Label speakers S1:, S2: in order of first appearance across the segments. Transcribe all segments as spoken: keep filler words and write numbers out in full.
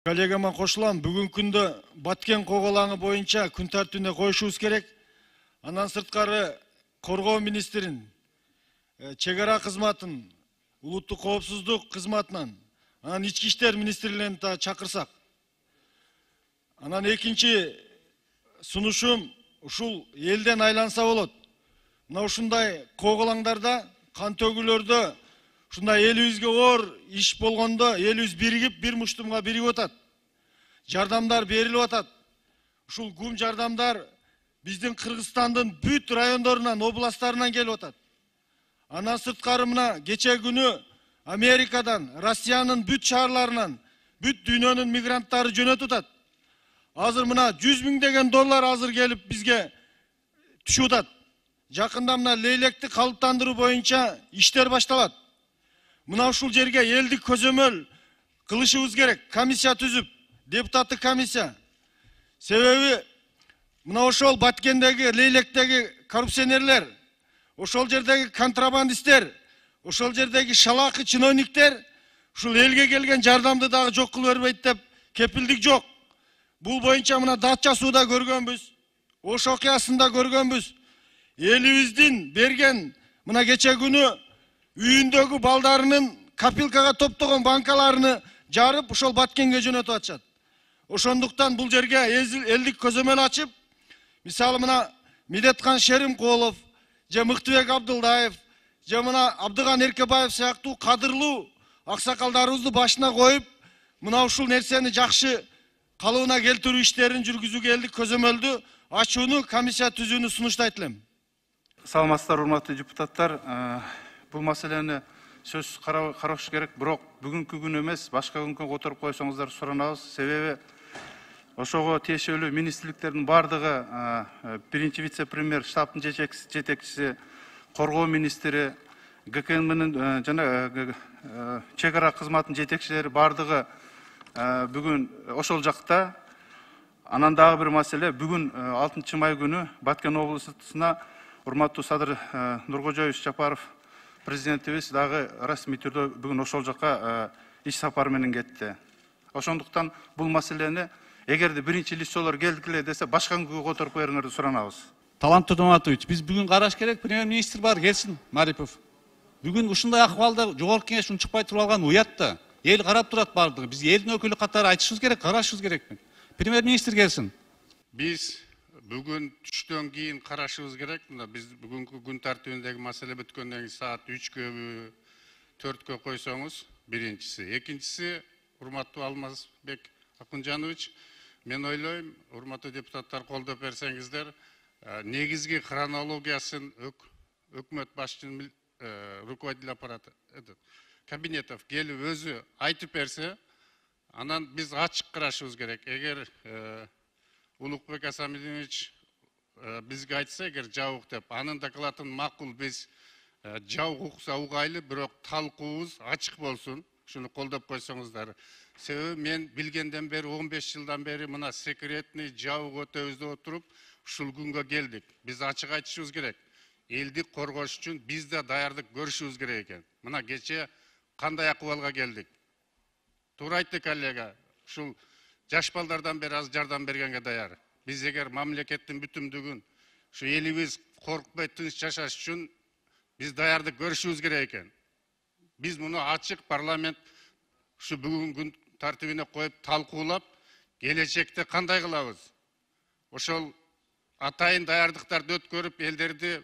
S1: Коллегама кошулам. Бүгүнкү күндө Баткен коголаңы боюнча күн тартибине коюшубуз керек. Андан сырткары коргоо министрин, чек ара кызматын, улуттук коопсуздук кызматынан, анан ички иштер министрлигин да чакырсак. Анан экинчи сунушум ушул элден айланса болот. Мына ушундай коголаңдарда, кан төгүүлөрдө, ушундай элибизге оор иш болгондо элибиз биригип, бир муштумга биригип атат. Жардамдар берилип атат. Ушул гум жардамдар биздин Кыргызстандын бүт райондорунан, областтарынан келип атат. Андан сырткары мына кече күнү Америкадан, Россиянын бүт шаарларынан, бүт дүйнөнүн мигранттары жөнөтүп атат. Азыр мына жүз миңдеген доллар азыр келип бизге түшүп атат. Жакында мына лейлекти калыптандыруу боюнча иштер башталат. Мына ушул жерге элдик көзөмөл кылышыбыз керек. Комиссия түзүп, депутаттык комиссия. Себеби мына ошол Баткендеги, Лейлектеги коррупционерлер, ошол жердеги контрабандисттер, ошол жердеги шалакы чиновниктер ушул элге келген жардамды дагы жок кылып бербейт деп кепилдик жок. Бул боюнча мына Датча сууда көргөнбүз, Ош окуясында көргөнбүз. Элибиздин берген мына кече күнү үйүндөгү балдарынын копилкага топтогон банкаларыны жарып, ошол Баткенге жөнөтүп атышат. Ошондуктан бул жерге элдик көзөмөл ачып, мисалы мына Медеткан Шеримкулов, же Мыктыбек Абдылдаев, же мына Абдыган Эркебаев сыяктуу кадырлуу аксакалдарыбызды башына коюп, мына ушул нерсени жакшы калыбына келтирүү иштерин жүргүзүүгө элдик көзөмөлдү ачууну, комиссия түзүүнү сунуштайт элем.
S2: Саламатсыздар, урматтуу депутаттар. Бул маселени сөзсүз караш керек, бирок бүгүнкү күн эмес, башка күнгө которуп койсоңуздар суранабыз. Себеби ошого тиешелүү министрликтердин бардыгы, биринчи вице-премьер, штабтын жетекчиси, коргоо министри, ГКМнын жана чек ара кызматынын жетекчилери бардыгы бүгүн ошол жакта. Анан дагы бир маселе, бүгүн алтынчы май күнү Баткен облусуна урматтуу Садыр Нуркожоевич Жапаров президентибиз дагы расмий түрдө бүгүн ошол жака иш сапар менен кетти. Ошондуктан бул маселени эгерде биринчи лицолор келдикиле десе, башка күнгө которуп бериңерди суранабыз.
S3: Талант Турдуматович, биз бүгүн караш керек, премьер-министр бар, келсин, Марипов. Бүгүн ушундай акыбалда жогорку кеңеш унчукпай туруп алган уят да. Эл карап турат бардыгы. Биз элдин өкүлү катары айтышыбыз керек, карашыбыз керек. Премьер-министр келсин.
S4: Биз бүгүн түштөн кийин карашыбыз керек. Мына биз бүгүнкү күн тартибиндеги маселе бүткөндөн кийин саат үчкө, төрткө койсоңуз, биринчиси. Экинчиси, урматтуу Алмазбек Акунжанович, мен ойлойм, урматтуу депутаттар колдоп берсеңиздер, негизги хронологиясын өкмөт башчынын руководитель аппараты кабинетов келип өзү айтып берсе, анан биз ачык карашыбыз керек. Эгер Улукбек Асамидинович бизге айтса, эгер жабык деп, анын докладын макул биз жабык укса угайлы, бирок талкуубуз ачык болсун. Шуну колдоп койсоңуздар. Себеби мен билгенден бери он беш жылдан бери мына секретный жабык өтөбүздө отуруп, ушул күнгө келдик. Биз ачык айтышыбыз керек. Элди коргош үчүн биз да даярдык көрүшүбүз керек экен. Мына кече кандай акыбалга келдик. Туура айтты коллега. Ушул жаш балдардан бери аз жардам бергенге даяр. Биз эгер мамлекеттин бүтүмдүгүн, ушу элибиз коркпой тынч жашаш үчүн биз даярдык көрүшүбүз керек экен. Биз муну ачык парламент ушу бүгүн күн тартибине коюп талкуулап, келечекте кандай кылабыз? Ошол атайын даярдыктарды өткөрүп, элдерди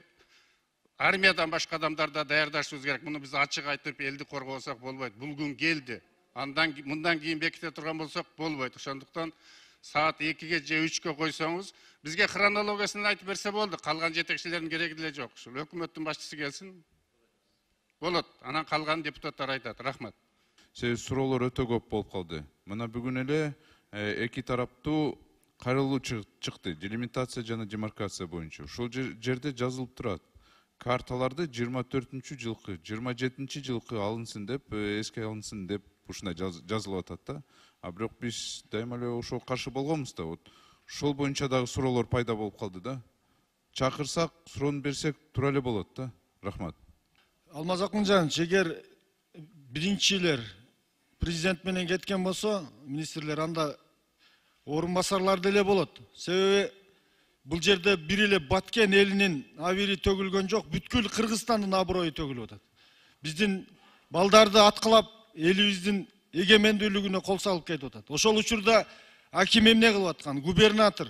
S4: армиядан башка адамдарда даярдашыбыз керек. Муну биз ачык айтып, элди коргосок болбойт. Бул күн келди. Андан мындан кийин беките турган болсок болбойт. Ошондуктан саат экиге же үчкө койсоңуз, бизге хронологиясын айтып берсе болду. Калган жетекчилердин кереги деле жок. Ушул өкмөттүн башчысы келсин. Болот. Анан калган депутаттар айтат. Рахмат.
S5: Себеби суроолор өтө көп болуп калды. Мына бүгүн эле эки тараптуу кайрылуу чыкты. Делимитация жана демаркация боюнча. Ушул жерде жазылып турат. Карталарды жыйырма төртүнчү жылкы, жыйырма жетинчи жылкы алынсын деп, эске алынсын деп ушундай жазылып атат да. А бирок биз дайыма эле ошого каршы болгонбуз да. Вот ошол боюнча дагы суроолор пайда болуп калды да. Чакырсак, суроону берсек тура эле болот да. Рахмат.
S1: Алмаз Акунжанович, эгер биринчилер президент менен кеткен болсо, министрлер анда орун басарлар деле болот. Себеби бул жерде бир эле Баткен элинин абири төгүлгөн жок, бүткүл Кыргызстандын аброю төгүлүп атат. Биздин балдарды аткылап, элибиздин эгемендүүлүгүнө кол салып кетип атат. Ошол учурда аким эмне кылып аткан? Губернатор,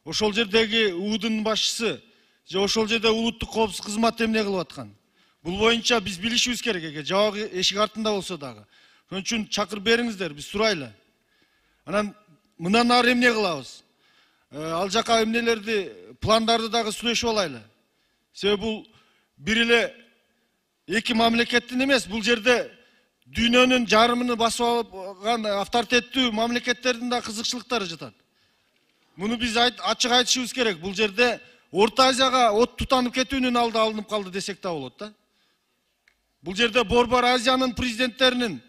S1: ошол жердеги УУдун башчысы, же ошол жерде улуттук коопсуздук кызматы эмне кылып аткан? Бул боюнча биз билишибиз керек экен, жабык эшик артында болсо дагы. Ошон үчүн чакырып бериңиздер, биз сурайлы. Анан мындан ары эмне кылабыз? Ал жака эмнелерди, пландарды дагы сүйлөшүп алайлы. Себеби бул бир эле эки мамлекеттин эмес, бул жерде дүйнөнүн жарымын басып алган авторитеттүү мамлекеттердин да кызыкчылыктары жатат. Муну биз ачык айтышыбыз керек. Бул жерде Орто Азияга от тутанып кетүүнүн алды алынып калды десек да болот да. Бул жерде Борбор Азиянын президенттеринин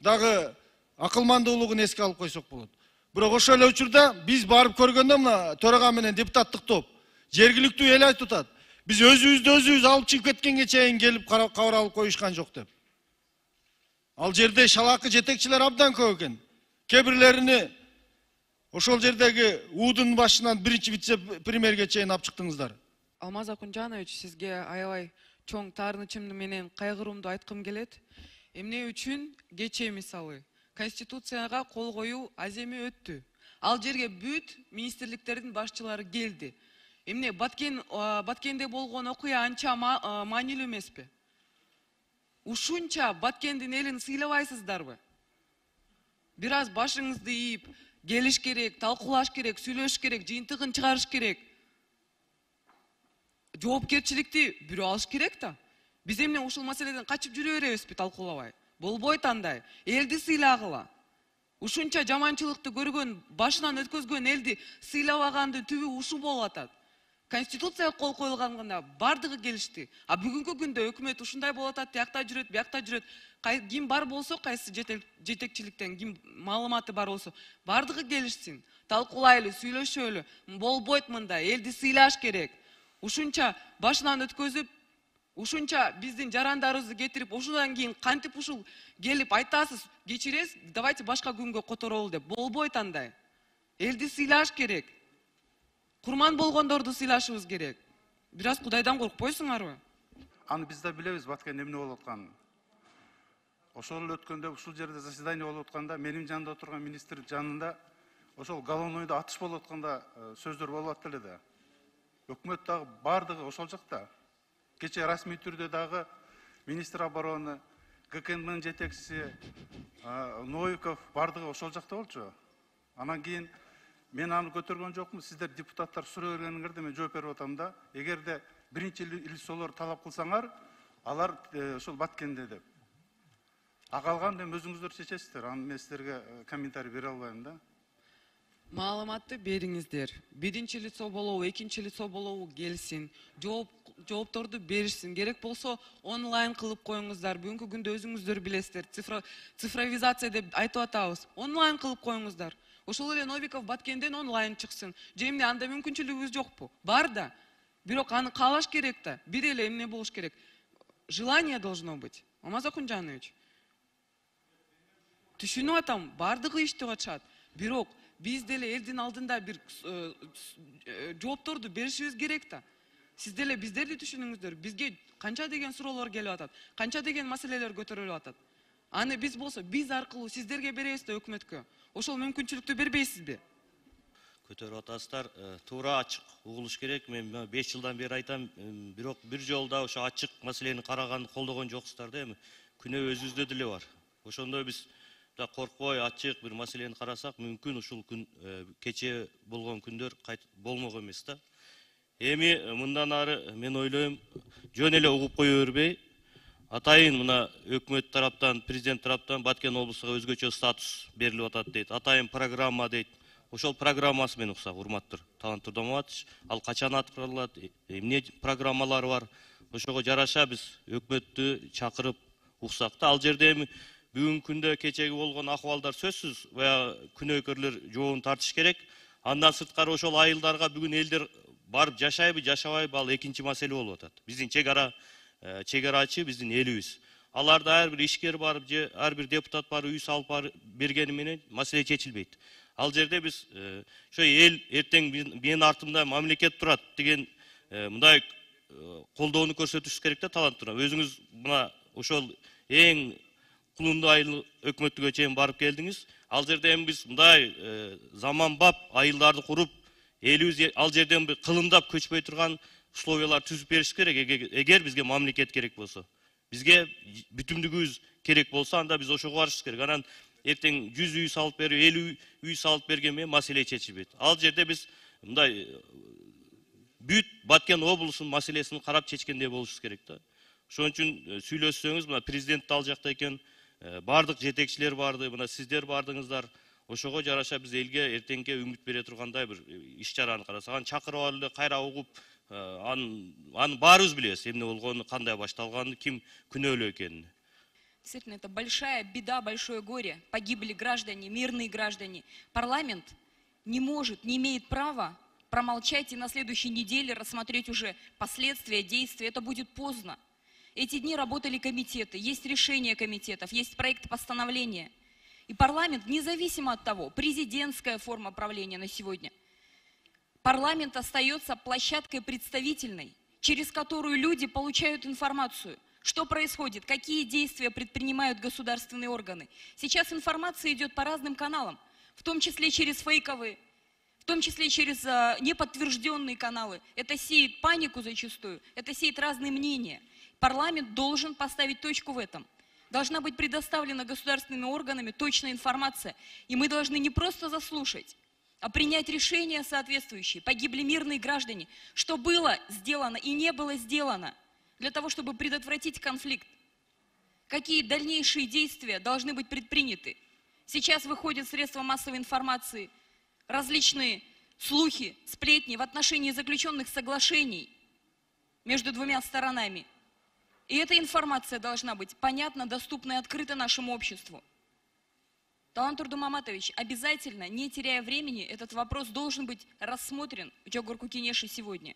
S1: дагы акылмандуулугун эске алып койсок болот. Бирок ошол эле учурда биз барып көргөндө мына төрага менен депутаттык топ жергиликтүү эл айтып атат. Биз өзүбүздү өзүбүз алып чыгып кеткенге чейин келип кабар алып коюшкан жок деп. Ал жерде шалакы жетекчилер абдан көп экен. Кээ бирлерини ошол жердеги УУдун башынан биринчи вице-премьерге чейин алып чыктыңыздар.
S6: Алмаз Акунжанович, сизге аябай чоң таарынычымды менен кайгыруумду айткым келет. Эмне үчүн кечээ мисалы Конституцияга кол коюу аземи өттү. Ал жерге бүт министрликтердин башчылары келди. Эмне Баткен Баткенде болгон окуя анча маанилүү эмеспи? Ушунча Баткендин элин сыйлабайсыздарбы? Бир аз башыңызды ийип, келиш керек, талкуулаш керек, сүйлөш керек, жыйынтыгын чыгарыш керек. Жоопкерчиликти бирөө алыш керек да. Биз эмне ушул маселеден качып жүрө беребизби талкуулабай? Болбойт андай. Элди сыйлагыла. Ушунча жаманчылыкты көргөн, башынан өткөзгөн элди сыйлабагандын түбү ушу болуп атат. Конституцияга кол коюлганда бардыгы келишти. А бүгүнкү күндө өкмөт ушундай болуп атат, тиякта жүрөт, биякта жүрөт. Ким бар болсо, кайсы жетекчиликтен ким маалыматы бар болсо, бардыгы келишсин. Талкуулайлы, сүйлөшөлү. Болбойт мындай, элди сыйлаш керек. Ушунча башынан өткөзүп, ушунча биздин жарандарыбызды кетирип, ушундан кийин кантип ушул келип айтасыз, кечиресиз, давайте башка күнгө которолу деп. Болбойт андай. Элди сыйлаш керек. Курман болгондорду сыйлашыбыз керек. Бир аз Кудайдан коркпойсуңарбы?
S2: Аны биз да билебиз, Баткен эмне болуп атканын. Ошол эле өткөндө ушул жерде заседание болуп атканда, менин жанымда отурган министр жанында ошол головнойдо атыш болуп атканда сөздөр болуп атты эле да. Өкмөт дагы бардыгы ошол жакта. Кече расмий түрдө дагы министр обороны, ГКН жетекчиси Новиков бардыгы ошол жакта болчу. Анан кийин мен аны көтөргөн жокмун, сиздер депутаттар суроо бергениңерде мен жооп берип атам да. Эгерде биринчи лицолор талап кылсаңар, алар ошол Баткенде деп. А калган эми өзүңүздөр чечесиздер. Аны мен сиздерге комментарий бере албайм да.
S6: Маалыматты бериңиздер. Биринчи лицо болобу, экинчи лицо болобу келсин. Жооп жоопторду беришсин. Керек болсо онлайн кылып коюңуздар. Бүгүнкү күндө өзүңүздөр билесиздер. Цифровизация деп айтып атабыз. Онлайн кылып коюңуздар. Ошол эле Новиков Баткенден онлайн чыксын. Же эмне анда мүмкүнчүлүгүбүз жокпу? Бар да. Бирок аны каалаш керек да. Бир эле эмне болуш керек? Желание должно быть. Алмаз Акунжанович. Түшүнүп атам, бардыгы иштеп атышат. Бирок биз деле элдин алдында бир жоопторду беришибиз керек да. Сиз деле биздерди түшүнүңүздөр. Бизге канча деген суроолор келип атат, канча деген маселелер көтөрүлүп атат. Аны биз болсо биз аркылуу сиздерге беребиз да өкмөткө. Ошол мүмкүнчүлүктү бербейсизби?
S7: Көтөрүп атасыздар, туура ачык угулуш керек. Мен беш жылдан бери айтам, бирок бир жолда ошо ачык маселени караганды колдогон жоксуздар да. Эми күнөө өзүбүздө деле бар. Ошондо биз да коркпой ачык бир маселени карасак, мүмкүн ушул күн кечээ болгон күндөр болмок эмес да. Эми мындан ары мен ойлойм, жөн эле угуп кое бербей, атайын мына өкмөт тараптан, президент тараптан Баткен облусуга өзгөчө статус берилип атат дейт. Атайын программа дейт. Ошол программасы менен уксак, урматтуу Талант Турдаматович, ал качан аткарылат, эмне программалар бар. Ошого жараша биз өкмөттү чакырып уксак да. Ал жерде эми бүгүнкү күндө кечеги болгон акыбалдар сөзсүз баягы күнөөкөрлөр жообун тартыш керек. Андан сырткары ошол айылдарга бүгүн элдер барып жашайбы, жашабайбы, ал экинчи маселе болуп атат. Биздин чек ара чек арачы биздин элибиз. аларда ар бир ишкер барып же ар бир депутат барып үй салып барып бергени менен маселе чечилбейт. Ал жерде биз ошо эл эртең менин артымда мамлекет турат деген мындай колдоону көрсөтүшүбүз керек да таланттуура. Өзүңүз мына ошол эң кулундайлы өкмөттүгө чейин барып келдиңиз. Ал жерде эми биз мындай заманбап айылдарды куруп, элибиз ал жерден бир кылымдап көчпөй турган условиялар түзүп бериш керек. Эгер бизге мамлекет керек болсо, бизге бүтүмдүгүбүз керек болсо, анда биз ошого барышыбыз керек. Анан эртең жүз үй салып берип, элүү үй салып берген менен маселе чечилбейт. Ал жерде биз мындай бүт Баткен облусунун маселесин карап чечкендей болушубуз керек да. Ошон үчүн сүйлөшсөңүз, мына президент ал жакта экен, бардык жетекчилер барды, мына сиздер бардыңыздар. Ошого жараша биз элге эртеңке үмүт бере тургандай бир иш чараны карасак, чакырып алып эле кайра угуп, аны аны баарыбыз билебиз, эмне болгонун, кандай башталганын, ким күнөөлүү экенин.
S8: Действительно, это большая беда, большое горе. Погибли граждане, мирные граждане. Парламент не может, не имеет права промолчать и на следующей неделе рассмотреть уже последствия, действия. Это будет поздно. Эти дни работали комитеты, есть решения комитетов, есть проект постановления. И парламент, независимо от того, президентская форма правления на сегодня, парламент остается площадкой представительной, через которую люди получают информацию, что происходит, какие действия предпринимают государственные органы. Сейчас информация идет по разным каналам, в том числе через фейковые, в том числе через а, неподтвержденные каналы. Это сеет панику зачастую, это сеет разные мнения. Парламент должен поставить точку в этом. Должна быть предоставлена государственными органами точная информация. И мы должны не просто заслушать, а принять решения соответствующие. Погибли мирные граждане. Что было сделано и не было сделано для того, чтобы предотвратить конфликт? Какие дальнейшие действия должны быть предприняты? Сейчас выходят средства массовой информации, различные слухи, сплетни в отношении заключенных соглашений между двумя сторонами. И эта информация должна быть понятна, доступна и открыта нашему обществу. Талантур Думаматович, обязательно, не теряя времени, этот вопрос должен быть рассмотрен в Джогорку Кенеши сегодня.